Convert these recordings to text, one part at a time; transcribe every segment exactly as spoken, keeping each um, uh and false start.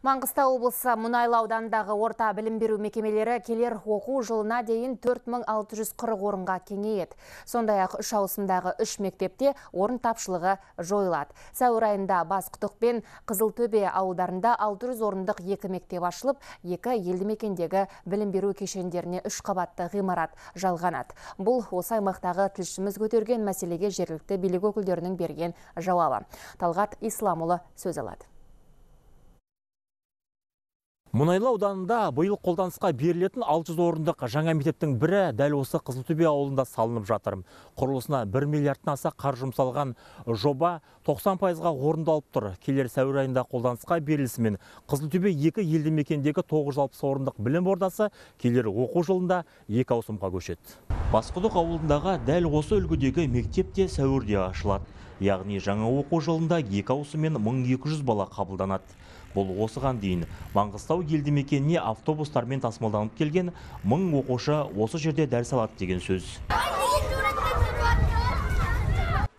Маңғыстау облысы Мұнайлы ауданындағы орта білім беру мекемелері келер оқу жылына дейін төрт мың алты жүз қырық орынға кеңейеді. Сондай-ақ үш ауысымдағы үш мектепте орын тапшылығы жойылады. Сәуір айында Басқұдық пен Қызылтөбе ауылдарында алты жүз орындық екі мектеп ашылып, екі елді мекендегі білім беру кешендеріне үш қабатты ғимарат жалғанады. Бұл осы аймақтағы тілшіміз көтерген мәселеге жергілікті билік өкілдерінің берген жауабы. Талғат Исламұлы сөз алады. Мұнайлы ауданында биыл қолданысқа берілетін алты жүз орындық жаңа мектептің бірі дәл осы Қызылтөбе ауылында салынып жатыр. Құрылысына бір миллиардтан аса қаржы жұмсалған жоба тоқсан пайызға орындалып тұр. Келер сәуір айында қолданысқа берілісімен Қызылтөбе екі елді мекендегі тоғыз жүз алпыс орындық білім ордасы келер оқу жылында екі ауысымға көшеді. Басқұдық ауылындағы дәл осы үлгідегі мектеп те сәуірде ашылады. Яғни жаңа оқу жылында екі ауысыммен мың екі жүз бала қабылданады. Бұл осыған дейін Маңғыстау елді мекеніне автобустармен тасымалданып келген мың оқушы осы жерде дәріс алады деген сөз.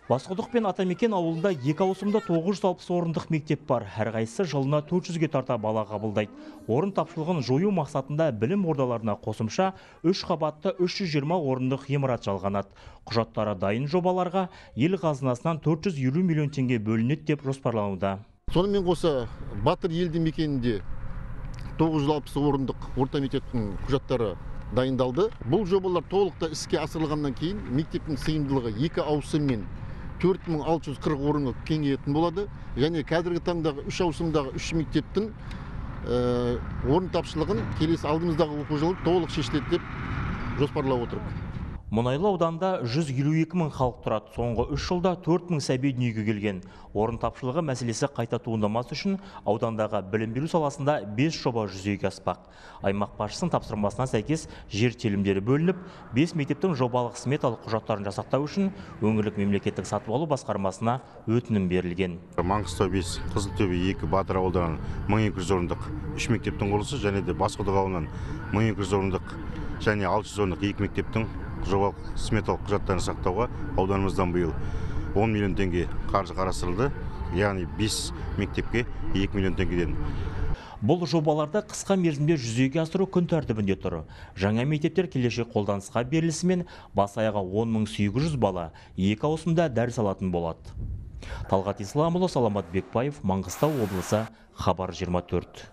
Басқұдық пен Атамекен ауылында екі ауысымда тоғыз жүз алпыс орындық мектеп бар. Әрқайсысы жылына төрт жүзге тарта бала қабылдайды. Орын тапшылығын жою мақсатында білім ордаларына қосымша үш қабатты үш жүз жиырма орындық ғимарат жалғанады. Құжаттары дайын жобаларға ел қазынасынан төрт жүз елу миллион теңге бөлінеді деп жоспарлануда. Сонымен қоса Батыр елді мекенінде тоғыз жүз алпыс орындық орта мектептің құжаттары дайындалды. Бұл жобалар толықта іске асырылғаннан кейін мектептің сыйымдылығы екі ауысыммен төрт мың алты жүз қырық орынға кеңейетін болады. Және қазіргі таңдағы үш ауысымдағы үш мектептің орын тапшылығын келесі алдымыздағы оқу жылы толық шешіледі деп жоспарлап отырмыз. Мұнайлы ауданында жүз елу екі мың халық тұрады. Соңғы үш жылда төрт мың сәби дүниеге келген. Орын тапшылығы мәселесі қайта туындамас үшін аудандағы білім беру саласында бес жоба жүзеге аспақ. Аймақ басшысының тапсырмасына сәйкес жер телімдері бөлініп, бес мектептің жобалық сметалық құжаттарын жасақтау үшін өңірлік мемлекеттік сатып алу басқармасына өтінім берілген. Маңғыстау бес, Қызылтөбе екі, Батыр ауылдарынан мың екі жүз орындық үш мектептің құрылысы және де Басқұдық ауылынан мың екі жүз орындық және алты жүз орындық екі мектептің жобалық сметалық құжаттарын сақтауға ауданымыздан биыл он миллион теңге қаржы қарастырылды. Яғни бес мектепке екі миллион теңгеден. Бұл жобаларды қысқа мерзімде жүзеге асыру күн тәртібінде тұр. Жаңа мектептер келешек қолданысқа берілісімен бас аяғы он мың сегіз жүз бала екі ауысымда дәріс алатын болады. Талғат Исламұлы, Саламат Бекбаев, Маңғыстау облысы, Хабар жиырма төрт.